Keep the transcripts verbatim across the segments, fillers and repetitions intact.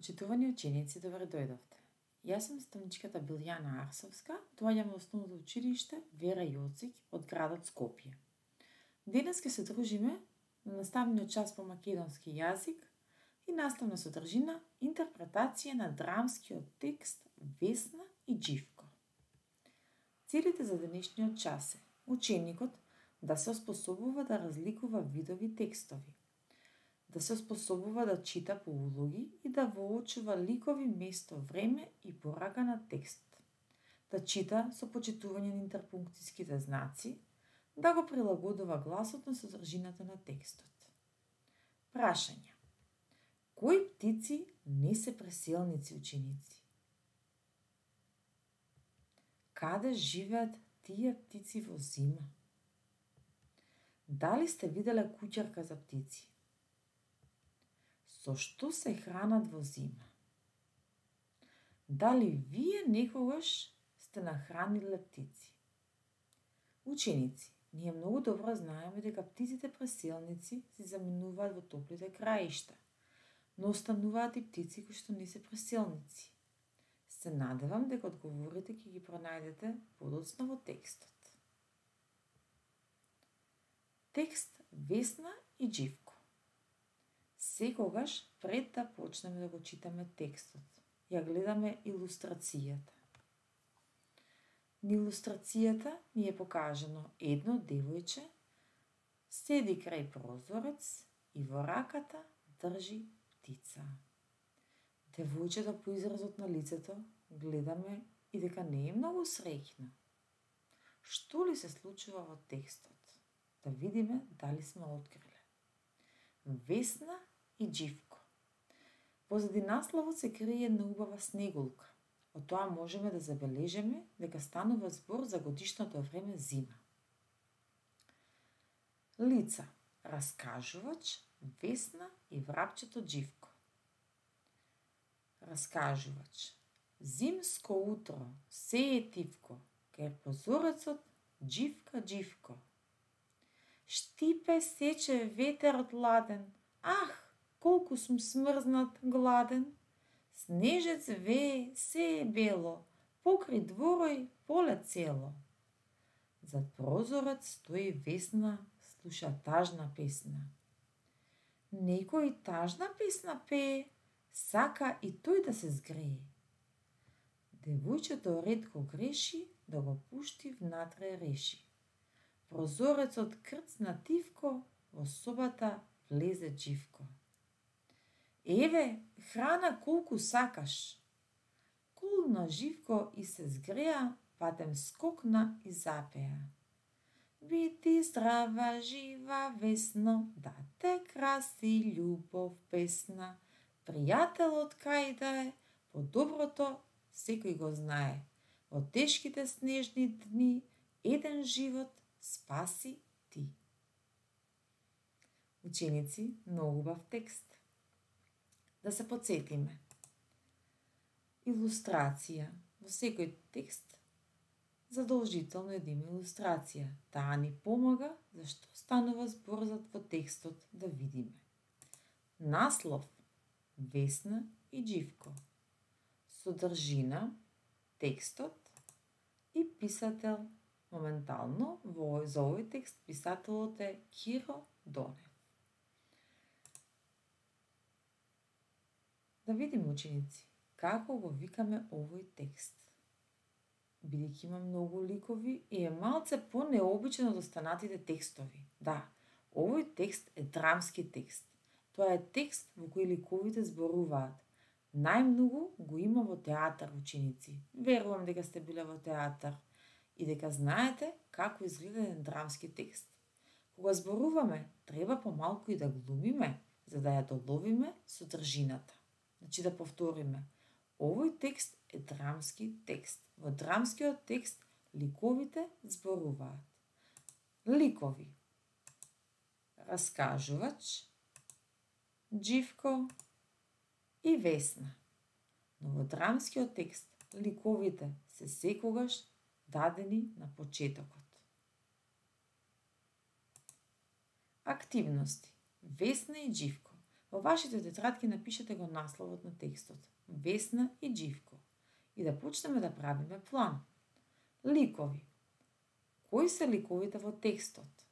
Почитувани ученици, добре дојдовте. Јас сум наставничката Билјана Арсовска, доаѓам во основното училиште Вера Јоцик од градот Скопје. Денес ќе се дружиме на наставниот час по македонски јазик и наставна содржина интерпретација на драмскиот текст Весна и Џивко. Целите за денешниот час е ученикот да се оспособува да разликува видови текстови, да се оспособува да чита по улоги и да воочува ликови, место, време и порака на текст, да чита со почитување на интерпункцијските знаци, да го прилагодува гласот на содржината на текстот. Прашања. Кои птици не се преселници, ученици? Каде живеат тие птици во зима? Дали сте виделе куќарка за птици? Со што се хранат во зима? Дали вие некогаш сте нахраниле птици? Ученици, ние многу добро знаеме дека птиците преселници се заминуваат во топлите краишта, но остануваат и птици кои што не се преселници. Се надевам дека одговорите ќе ги пронајдете подоцна во текстот. Текст Весна и Џивко. Секогаш, пред да почнеме да го читаме текстот, ја гледаме илустрацијата. На илустрацијата ни е покажано едно девојче, седи крај прозорец и во раката држи птица. Девојчето по изразот на лицето гледаме и дека не е многу среќно. Што ли се случува во текстот? Да видиме дали сме откриле. Весна и Џивко. Позади насловот се крие една убава снегулка. Од тоа можеме да забележиме дека станува збор за годишното време зима. Лица. Раскажувач, Весна и врапчето Џивко. Раскажувач. Зимско утро, се е тивко, кај прозорецот Џивка, Џивко. Штипе сече ветерот ладен, ах, колку сум смрзнат, гладен. Снежец вее, се е бело, покри дворој поле цело. Зад прозорец стои Весна, слуша тажна песна. Некој тажна песна пее, сака и тој да се згрее. Девојчето ретко греши, да го пушти внатре реши. Прозорецот крцна тивко, во собата влезе Џивко. Еве, храна колку сакаш. Колна Џивко и се згреа, патем скокна и запеа. Бити здрава, жива, Весно, да те краси љубов песна. Пријателот кај да е, по доброто секој го знае. Во тешките снежни дни, еден живот спаси ти. Ученици, многу убав текст. Да се потсетиме. Илустрација. Во секој текст задолжително е да има илустрација. Таа ни помага зашто станува зборот во текстот да видиме. Наслов Весна и Џивко. Содржина текстот и писател. Моментално во за овој текст писателот е Киро Донев. Да видиме, ученици, како го викаме овој текст. Бидејќи има многу ликови и е малце по-необичен од останатите текстови. Да, овој текст е драмски текст. Тоа е текст во кој ликовите зборуваат. Најмногу го има во театар, ученици. Верувам дека сте биле во театар и дека знаете како изгледа еден драмски текст. Кога зборуваме, треба помалку и да глумиме, за да ја доловиме содржината. Значи да повториме. Овој текст е драмски текст. Во драмскиот текст ликовите зборуваат. Ликови. Раскажувач, Џивко и Весна. Но во драмскиот текст ликовите се секогаш дадени на почетокот. Активности. Весна и Џивко. Во вашите тетрадки напишете го насловот на текстот, Весна и Џивко, и да почнеме да правиме план. Ликови. Кои се ликовите во текстот?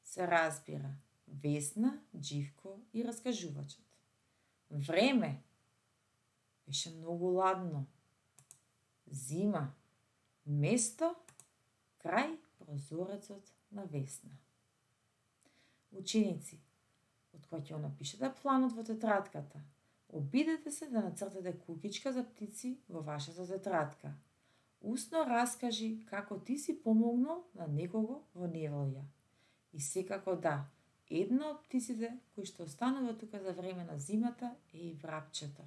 Се разбира, Весна, Џивко и раскажувачот. Време. Беше многу ладно. Зима. Место. Крај прозорецот на Весна. Ученици, од кога ќе напишете планот во тетрадката, обидете се да нацртате куќичка за птици во вашата тетрадка. Усно раскажи како ти си помогнал на некого во неволја. И секако да, една од птиците кои што останува тука за време на зимата е и врапчето.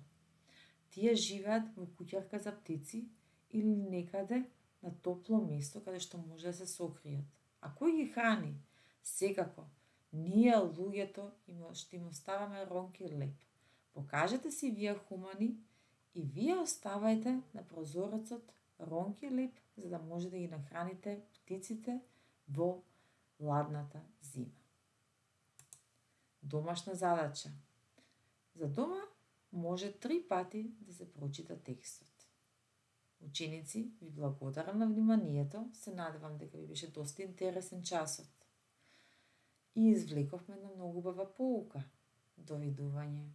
Тие живеат во куќарка за птици или некаде на топло место каде што може да се сокријат. А кој ги храни? Секако, ние луѓето што им оставаме ронки леп. Покажете си вие хумани и вие оставајте на прозорецот ронки леп за да може да ги нахраните птиците во ладната зима. Домашна задача. За дома може три пати да се прочита текстот. Ученици, ви благодарам на вниманието, се надевам дека ви беше доста интересен часот. И извлековме на многу убава поука. Довидување.